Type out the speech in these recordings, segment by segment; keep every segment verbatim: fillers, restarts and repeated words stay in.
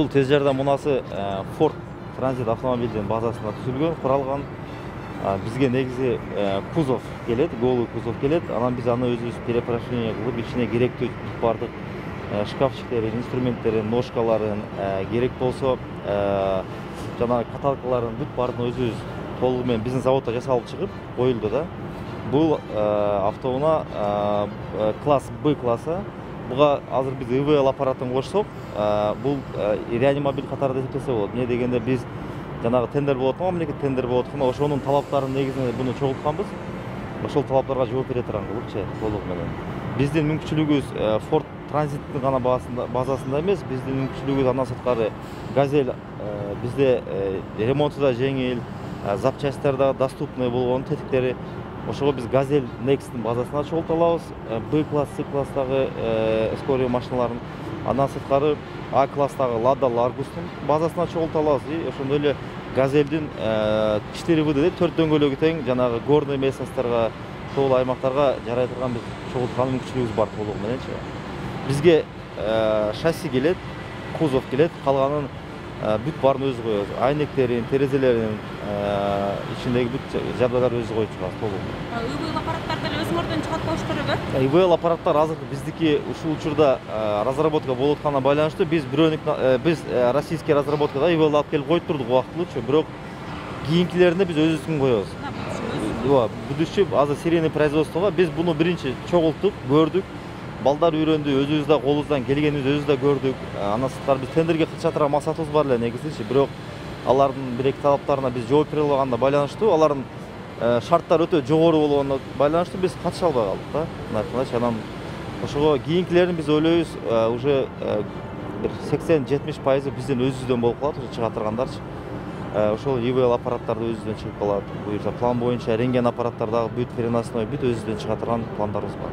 Бул тез жардам мунасы Ford Transit автомобилдин базасында түзүлгөн, куралган. Бизге негизи кузов келет, голый кузов келет. Анан биз аны өзүбүз перепрофилирование кылып, ичине керектүү бардык шкафчиктерин, инструменттерин, ножкаларын, керек болсо жанагы каталкаларын бүт баарын өзүбүз толугу менен биздин заводдо жасалып чыгып коюлду да. Бул автоунаа класс Б классы. Буга азыр биз И В Л аппаратын кошсок, бул реанимобиль катары эсептесе болот. Эмне дегенде биз жанагы тендер болот, мамлекет тендер болот, ошонун талаптарын негизинде буну чогултканбыз. Ошол талаптарга жооп бере турган кылыпчы толугу менен. Биздин мүмкүнчүлүгүбүз Ford Transiттин гана базасында эмес, биздин мүмкүнчүлүгүбүз андан сырткары Газель бизде ремонту да жеңил, запчасттар да доступный болгон тетиктери. Ошого биз Газель Next'ин базасына чогулта алабыз. Б класс, С класстагы скорый машиналарын, андан сырткары А класстагы Lada Largus'тун базасына чогулта алабыз. И ошондой эле Газельдин четыре вэ Д төрт дөңгөлөгү тең жанагы горный местностторго, тоолуу аймактарга жарай турган биз чогулткан мүмкүнчүлүгүбүз бар толугу мененчи. Бизге шасси келет, кузов келет, калганын бүт баарын өзү коебуз. Айнектерин, терезелерин, ичиндеги бүт жабдайларды өзү коюп чыгабыз толугу. И В Л аппараттарды эле өзүңөрдөн чыгат болуштурбу? И В Л аппараттар азыркы биздики ушул учурда разработка болуп атканына байланыштуу биз бирөөнүк биз российский разработкада И В Л алып келип коюп турдук убактылуучу, бирок кийинкилерине биз өзүбүздүн коебуз. Ооба, будущий азыр серийный производствого биз буну биринчи чогулттук, көрдүк. Балдар үйрөндү, өзүбүз да колубуздан келгенибизди өзүбүз да көрдүк. Андан сырткары биз тендерге катыша турган максатыбыз бар эле негизичи, бирок алардын бир эки талаптарына биз жооп бере албаганына байланыштуу, алардын шарттары өтө жогору болгонуна байланыштуу биз катыша албай калдык да. Мындай кылыч, анан ошого кийинкилерин биз ойлойбуз, уже бир сексен жетимиш пайызы биздин өзүбүздөн болуп калат, уже чыга тургандарчы. Ошол И В Л аппараттарды өзүбүздөн чыгып калат. Буюрса план боюнча рентген аппараттар дагы бүт переносной, бүт өзүбүздөн чыга турган пландарыбыз бар.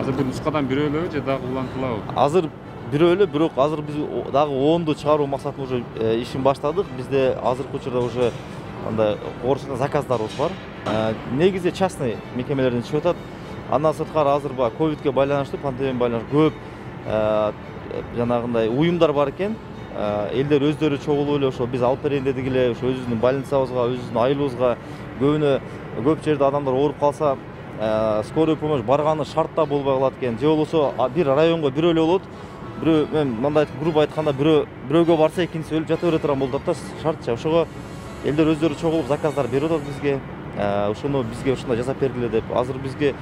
Азыр бул нускадан бирөө элеби же дагы улантылабы? Азыр бирөө эле, бирок азыр биз дагы онду чыгаруу максатында уже ишин баштадык. Бизде азыркы учурда уже андай орусча заказдарыбыз бар. Негизи частный мекемелерден чыгып атат. Андан сырткары азыр баягы ковидке байланыштуу, пандемияга байланыштуу көп жанагындай уюмдар бар экен. Элдер өздөрү чогулуп эле ошо биз алып берейин дедик эле, ошо өзүбүздүн больницабызга, өзүбүздүн айылыбызга, көбүнө көп жерде адамдар ооруп калса, скорый помощь барганы шартта болбой калат экен. Же болбосо бир районго бирөө эле болот. Бирөө мен мындай грубо айтканда бирөө бирөөгө барса экинчиси өлүп жата бере турган болуп атат да, шартча. Ошого элдер өздөрү чогулуп заказдар берип атат бизге. Ошону бизге ушундай жасап бергиле деп. Азыр бизге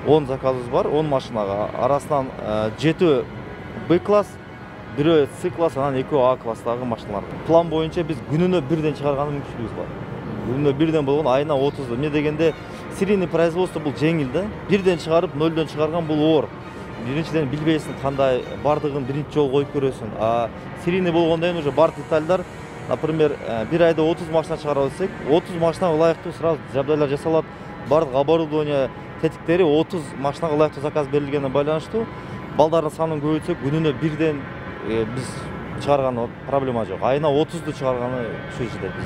он заказыбыз бар, он машинага. Арасынан жетөө Б класс, бирөө С класс, анан экөө А класстагы машиналар. План боюнча биз күнүнө бирден чыгарган мүмкүнчүлүгүбүз бар. Күнүнө бирден болгон, айына отуз. Эмне дегенде серийный производство бул жеңил да. Бирден чыгарып, нөлдөн чыгарган бул оор. Биринчиден билбейсиң кандай бардыгын биринчи жолу коюп көрөсүң. А серийный болгондон кийин уже бар детальдар, например, бир айда отуз машина чыгарып атсак, отуз машинага ылайыктуу сразу жабдайлар жасалат. Бардык оборудование, тетиктери отуз машинага ылайыктуу заказ берилгенине байланыштуу. Балдардын санын көбөйтсөк, күнүнө бирден биз чыгарган проблема жок. Айына отузду чыгарганы ушул жерде биз